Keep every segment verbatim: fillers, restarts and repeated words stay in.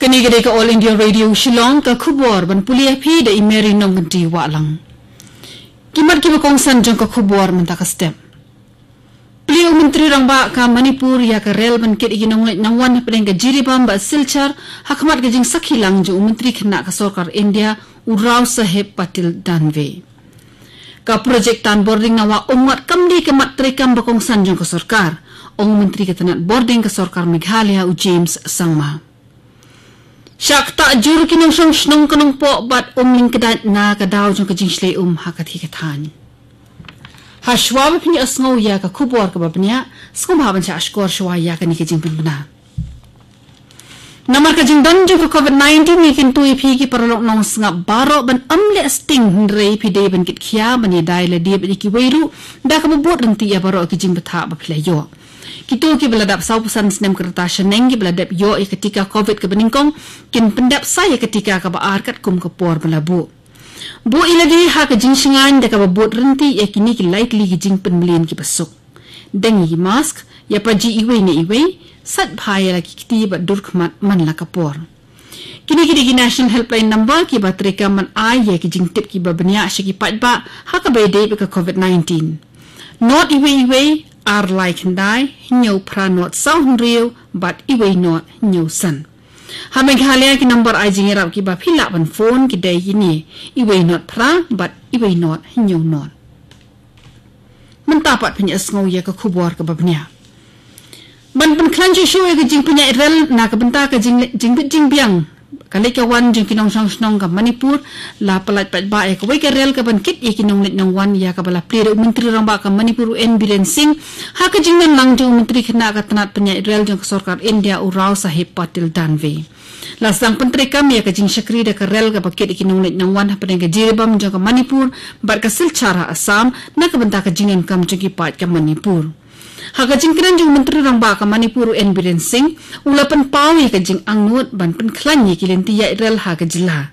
Kane ka dei ka All India Radio Shillong, ka khubor ban pule ïa phi da i Mary Nongkynti Wahlang. Ki mat kiba kongsan jong ka khubor mynta ka step. Plie u Myntri Rangbah ka Manipur ïa ka rel ban kit ïa ki nongleit nongwan hapdeng ka Jiribam bad Silchar, ha khmat ka jingsakhi lang jong u Myntri Khynnah ka Sorkar India, u Rao Saheb Patil Danve. Ka projek tan bording na Wah Umngot kam dei ka mat treikam ba kongsan jong ka sorkar, ong u Myntri ka tnat bording ka Sorkar Meghalaya, u James Sangma. Shah ktah jur ki nongshong shnong ka Nongpoh bad Umling Kdait na ka daw jong ka jingshlei um ha ka thikathan. Hashwa ba phin ïohsngew ïa ka khubor kaba bniah, sngewbha ban shah shkor shwa ïa kane ka jingpynbna. Namar ka jingdon jong ka COVID nineteen, ngi kyntu ïa phi ki paralok nongsngap baroh ban ym leh sting, hynrei phi dei ban kit khia ban ïadei lade bad ïa kiwei ruh, da kaba bud ryntih ïa baroh ki jingbthah ba phi la ïoh. Kito kiba la dap sawphew san snem ka rta shaneng kiba la dep ïoh ïa ka tika COVID kaba nyngkong, kin pyndep sa ïa ka tika kaba ar katkum ka por ba la buh. Buh ïa lade ha ka jingshngaiñ da kaba bud ryntih ïa kine ki lai tylli ki jingpynmlien kiba suk. Deng ïa ki mask, ïa paji iwei na iwei, sait bha ïa la ki kti bad dur khmat man la ka por. Kine ki dei ki National Helpline Number kiba treikam ban ai ïa ki jingtip kiba bniah sha ki paidbah ha kaba ïadei bad ka COVID nineteen. Not iwei iwei, ar lai khyndai, hynñiew phra not saw hynriew, bad iwei not hynñiew san. Ha Meghalaya ki number ai jingïarap kiba phi lah ban phone ki dei kine, iwei not phra, bad iwei not hynñiew not. Mynta pat phin ïohsngew ïa ka khubor kaba bniah. Ban pynkhlaiñ shuh shuh ïa ka jingpynïaid rel na ka bynta ka jing, jingbit jingbiang ka leit ka wan jong ki nongshong shnong ka Manipur, la pyllait paidbah ïa kawei ka rel kaban kit ïa ki nongleit nongwan, ïa kaba la plie da u Myntri Rangbah ka Manipur, u N Biren Singh, ha ka jingdon lang jong u Myntri Khynnah ka tnat pynïaid rel jong ka Sorkar India, u Rao Saheb Patil Danve. La sdang pyntreikam ïa ka jingshakri da ka rel kaba kit ïa ki nongleit nongwan hapdeng ka Jiribam jong ka Manipur bad ka Silchar ha Assam, na ka bynta ka jingdonkam jong ki paid ka Manipur. Ha ka jingkren jong u Myntri Rangbah ka Manipur, u N Biren Singh, u la pynpaw ïa ka jingangnud ban pynkhlaiñ ïa ki lynti ïaid rel ha ka jylla.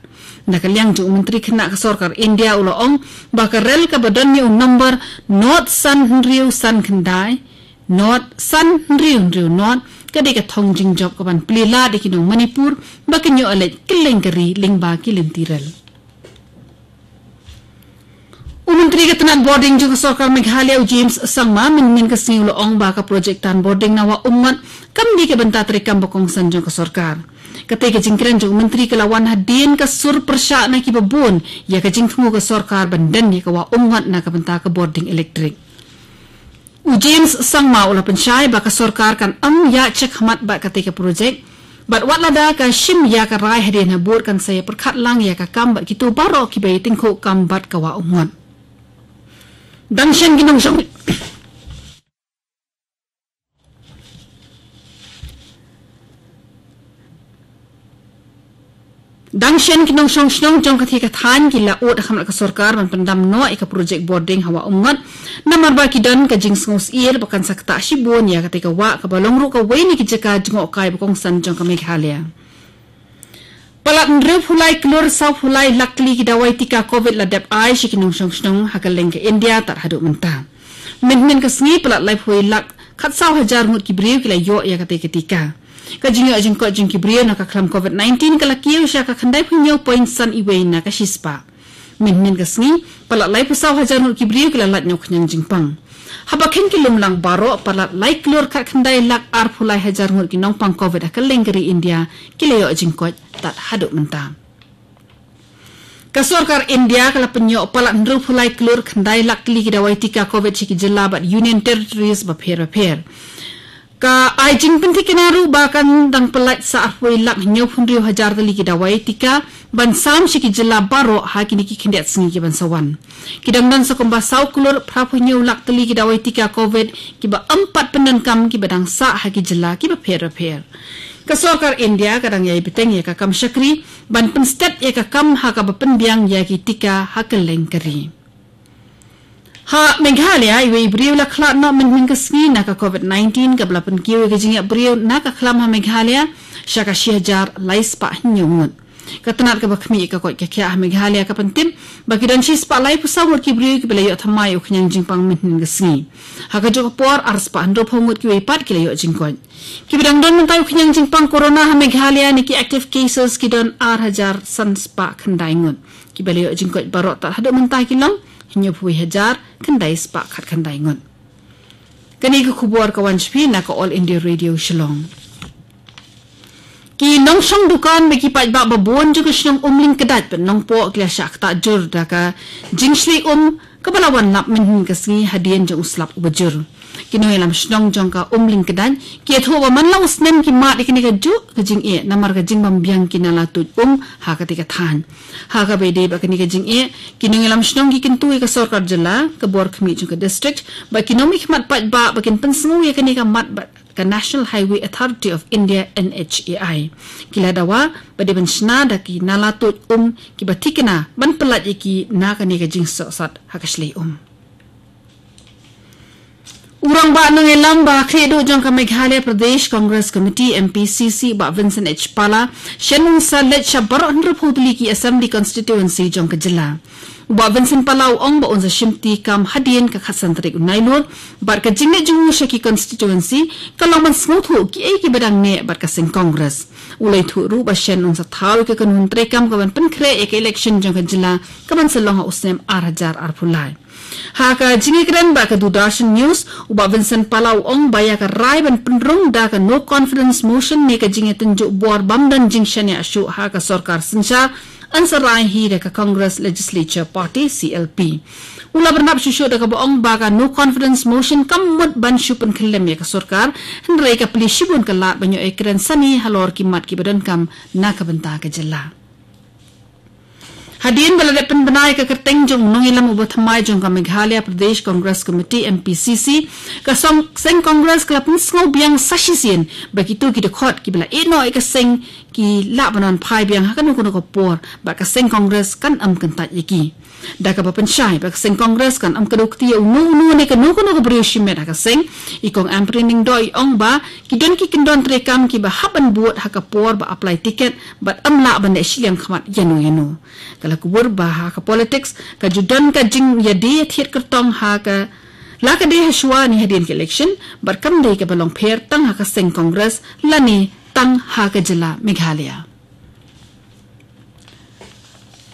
Na ka liang jong u Myntri Khynnah ka Sorkar India, u la ong ba ka rel kaba don ïa u number not san hynriew san khyndai, not san hynriew hynriew not, ka dei ka thong jingjop kaban plie lad ïa ki nong Manipur ba kin ïoh leit kylleng ka ri lyngba ki lynti rel. U Myntri ka tnat bording jong ka Sorkar Meghalaya, u James Sangma, mynhynnin ka sngi u la ong ba ka projek tan bording na Wah Umngot kam dei ka bynta treikam ba kongsan jong ka sorkar. Katei ka jingkren jong u Myntri ka la wan hadien ka sur pyrshah na kiba bun ïa ka jingthmu ka sorkar ban don ïa ka Wah Umngot na ka bynta ka bording elektrik. U James Sangma u la pynshai ba ka sorkar kan ym ïaid shakhmat bad katei ka projek, bad wat lada ka shim ïa ka rai hadien habud, kan sa ïa pyrkhat lang ïa ka kam bad kito baroh kiba ïa tyngkhuh kam bad ka Wah Umngot. Dang shen ki nongshong Dang shen ki nongshong shnong jong ka thikathan ki la ud ha khmat ka sorkar ban pyndam noh ïa ka projek bording ha Wah Umngot, namar ba ki don ka jingsngewsyier ba kan sa ktah shibun ïa katei ka wah, kaba long ruh kawei na ki jaka jngohkai ba kongsan jong ka Meghalaya. Palat hynriewphew lai klur sawphew lai lak tylli ki dawai tika COVID la dep ai sha ki nongshong shnong ha kylleng ka India tad haduh mynta. Mynhynnin ka sngi, palat laiphew lak khatsaw hajar ngut ki briew ki la ïoh ïa katei ka tika. Ka jingïoh jingkoit jong ki briew na ka khlam COVID nineteen ka la kiew sha ka khyndaiphew hynñiew point san iwei na ka shispah. Mynhynnin ka sngi, palat laiphew saw hajar ngut ki briew ki la lait na u khñiang jingpang. Haba kheiñ ki lumlang baroh, palat lai klur khatkhyndai lak arphew lai hajar ngut ki nongpang COVID ha kylleng ka ri India ki la ïoh jingkoit tad haduh mynta. Ka sorkar India ka la pynïoh palat hynriewphew lai klur khyndai lak tylli ki dawai tika COVID sha ki jylla bad Union Territories bapher bapher. Ka ai jingpynthikna ruh ba kan dang pyllait sa arphew lak hynñiewphew hynriew hajar tylli ki dawai tika ban sam sha ki jylla baroh ha kine ki khyndiat sngi ki ban sa wan. Ki dang don sa kumba saw klur phraphew hynñiew lak tylli ki dawai tika COVID kiba ym pat pyndonkam kiba dang sah ha ki jylla kiba pher bapher. Ka sorkar India ka dang ïai bteng ïa ka kam shakri ban pynstet ïa ka kam ha kaba pynbiang ïa ki tika ha kylleng ka ri. Ha Meghalaya, iwei i briew la khlad noh mynhynnin ka sngi na ka COVID nineteen, kaba la pynkiew ïa ka jingïap briew na ka khlam ha Meghalaya sha ka shi hajar lai spah hynñiew ngut. Ka tnat kaba khmih ka koit ka khiah ha Meghalaya ka pyntip ba ki don shispah laiphew saw ngut ki briew kiba la ïoh thymmai u khñiang jingpang mynhynnin ka sngi. Ha kajuh ka por arspah hynriewphew ngut kiwei pat ki la ïoh jingkoit. Kiba dang don mynta u khñiang jingpang corona ha Meghalaya ne ki active cases ki don ar hajar sanspah khyndai ngut. Kiba la ïoh jingkoit baroh tad haduh mynta ki long hynñiewphew wei hajar khyndai spah khatkhyndai ngut. Kane ka khubor ka wan sha phi na ka All India Radio Shillong. Ki nongshong dukan bad ki paidbah babun jong ka shnong Umlyngkdait bad Nongpoh ki la shah ktah jur da ka jingshlei um kaba la wan lap mynhynnin ka sngi hadien jong u slap uba jur. Ki nongïalam shnong jong ka Umlyngkdait ki ïathuh ba man la u snem ki mad ïa kane kajuh ka jingeh namar ka jingbym biang ki nala tuid um ha katei ka thaiñ. Ha kaba ïadei bad kane ka jingeh, ki nongïalam shnong ki kyntu ïa ka sorkar jylla, ka bor khmih jong ka district bad ki nongmihkhmat paidbah ba kin pynsngew ïa kane ka mat bad ka National Highway Authority of India, N H A I. Ki la dawa ba dei ban shna da ki nala tuid um kiba thikna ban pyllait ïa ki na kane ka jingsohsat ha ka shlei um. U rangbah nongïalam ba khlieh duh jong ka Meghalaya Pradesh Congress Committee, M P C C, Bah Vincent H Pala, shen un sa leit sha baroh hynriewphew tylli ki Assembly Constituency jong ka jylla. U Bah Vincent Pala u ong ba un sa shimti kam hadien ka khatsan tarik u Nailur bad ka jingleit jong u sha ki constituency ka long ban sngewthuh kiei kiba dang neh bad ka seng Congress. U la ïathuh ruh ba shen un sa thaw ïa ka kynhun treikam kaban pynkhreh ïa ka election jong ka jylla kaban sa long ha u snem ar hajar arphew lai. Ha ka jingïakren bad ka Doordarshan News, u Bah Vincent Pala u ong ba ïa ka rai ban pynrung da ka no confidence motion ne ka jingïatynjuh bor bym don jingshaniah shuh ha ka sorkar synshar, yn sa rai hi da ka Congress Legislature Party, C L P. U la bynrap shuh shuh da kaba ong ba ka no confidence motion kam mut ban shu pynkhyllem ïa ka sorkar, hynrei ka plie shibun ka lad ban ïoh ïakren sani halor ki mat kiba donkam na ka bynta ka jylla. Hadien ba la dep pynbna ïa ka kyrteng jong u nongïalam uba thymmai jong ka Meghalaya Pradesh Congress Committee, M P C C, ka song seng Congress ka la pynsngew biang sa shisien ba kito ki dkhot kiba la ïeh noh ïa ka seng ki lah ban wan phai biang ha kano kano ka por bad ka seng Congress kan ym kyntait ïa ki. Da kaba pynshai ba ka seng Congress kan ym kdew kti ïa uno uno ne kano kano ka briew shimet ha ka seng, i Kong Ampareen Lyngdoh i ong ba ki don ki kyndon treikam kiba hap ban bud ha ka por ba apply ticket bad ym lah ban leh shiliang khmat ïano ïano. Ka la kubur ba ha ka politics ka ju don ka jingïadie thied kyrtong ha ka la ka dei ha shuwa ne hadien ka election bad kam dei kaba long pher tang ha ka seng Congress lane tang ha ka jylla Meghalaya.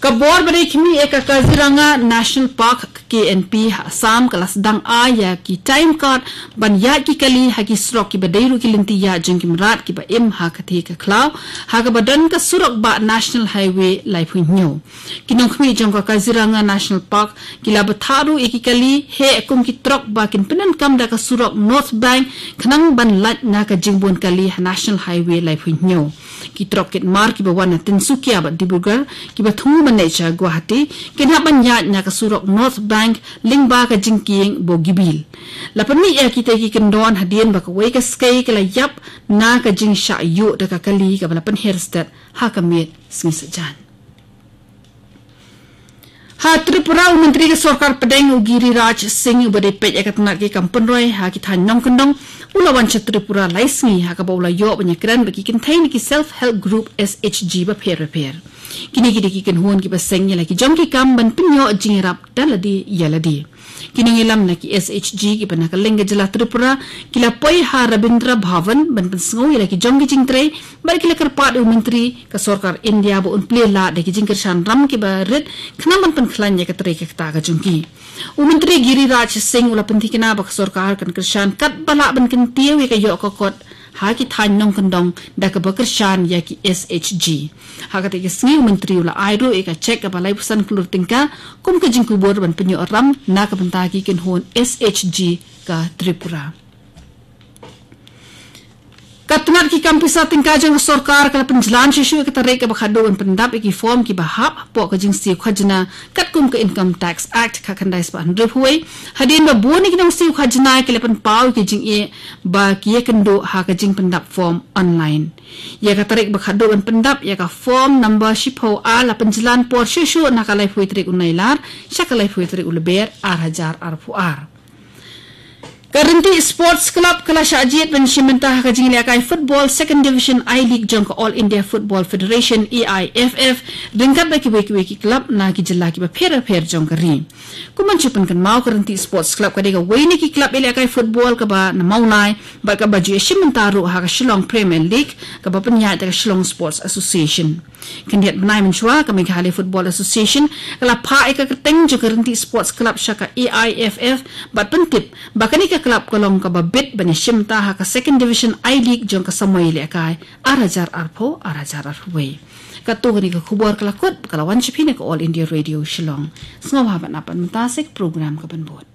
Ka bor ba dei khmih ïa ka Kaziranga National Park, ka K N P, ha Assam ka la sdang ai ïa ki time card ban ïaid ki kali ha ki surok kiba dei ruh ki lynti ïaid jong ki mrad kiba im ha ka thie ka khlaw, ha kaba don ka surok bah National Highway laiphew hynñiew. Ki nongkhmih jong ka Kaziranga National Park ki la bthah ruh ïa ki kali heh kum ki trok ba kin pyndonkam da ka surok North Bank khnang ban lait na ka jingbun kali ha National Highway laiphew hynñiew. Ki trok kit mar kiba wan na Tinsukia bad Dibrugarh kiba thmu ban leit sha Guwahati kin hap ban ïaid na ka surok North Bank lyngba ka jingkieng Bogibil. La pynmih ïa kita ki kyndon hadien ba kawei ka skei ka la ïap na ka jingshah ïuh da ka kali kaba la pynher stet ha ka miet sngi Saitjaiñ. Ha Tripura, u Myntri ka Sorkar Pdeng u Giriraj Singh uba dei peit ïa ka tnat ki kam pynroi ha ki thaiñ nongkyndong u la wan sha Tripura lai sngi ha kaba u la ïoh ban ïakren bad ki kynthei na ki Self Help Group, S H G, bapher bapher. Kine ki dei ki kynhun kiba seng ïa la ki jong ki kam ban pynïoh jingïarap da lade ïa lade. Ki nongïalam na ki S H G kiba na ka lyngkha jylla Tripura ki la poi ha Rabindra Bhavan ban pynsngew ïa la ki jong ki jingtrei bad ki la kyrpad ïa u Myntri ka Sorkar India ba un plie lad da ki jingkyrshan ram kiba rit khnang ban pynkhlaiñ ïa ka trei ka kta ka jong ki. U Myntri Giriraj Singh u la pynthikna ba ka sorkar kan kyrshan katba lah ban kyntiew ïa ka ïoh ka kot ha ki thaiñ nongkyndong da kaba kyrshan ïa ki S H G. Ha katei ka sngi u Myntri u la ai ruh ïa ka cheque kaba laiphew san klur tyngka kum ka jingkubur ban pynïoh ram na ka bynta ki kynhun S H G ka Tripura. Ka tnat ki kam pisa tyngka jong ka sorkar ka la pynjlan shuh shuh ïa ka tarik kaba khatduh ban pyndap ïa ki form kiba hap hapoh ka jingsiew khajna katkum ka Income Tax Act khatkhyndai spah hynriewphew wei, hadien ba bun ïa ki nongsiew khajna ki la pynpaw ïa ki jingeh ba ki ïakynduh ha ka jingpyndap form online. Ïa ka tarik ba khatduh ban pyndap ïa ka form number shiphew A la pynjlan por shuh shuh na ka laiphew wei tarik u Nailar sha ka laiphew wei tarik u Lber ar hajar arphew ar. Ka Rynti Sports Club ka la shah jied ban shim bynta ha ka jingïalehkai football Second Division I-League jong ka All India Football Federation, A I F F, ryngkat bad kiwei kiwei ki club na ki jylla kiba pher bapher jong ka ri. Kum ban shu pynkynmaw, ka Rynti Sports Club ka dei kawei na ki club ïalehkai football kaba na Mawlai bad kaba ju ïashim bynta ruh ha ka Shillong Premier League, kaba pynïaid da ka Shillong Sports Association. Khyndiat bnai mynshuwa, ka Meghalaya Football Association ka la phah ïa ka kyrteng jong ka Rynti Sports Club sha ka A I F F bad pyntip ba kane ka club ka long kaba bit ban ïashim bynta ha ka Second Division I-League jong ka samoi ïalehkai ar hajar arphew, ar hajar arphew wei. Katto katne ka khubor ka la kut, ka la wan sha phi na ka All India Radio Shillong. Sngewbha ban ap ban mynta sa ïa ka program kaban bud.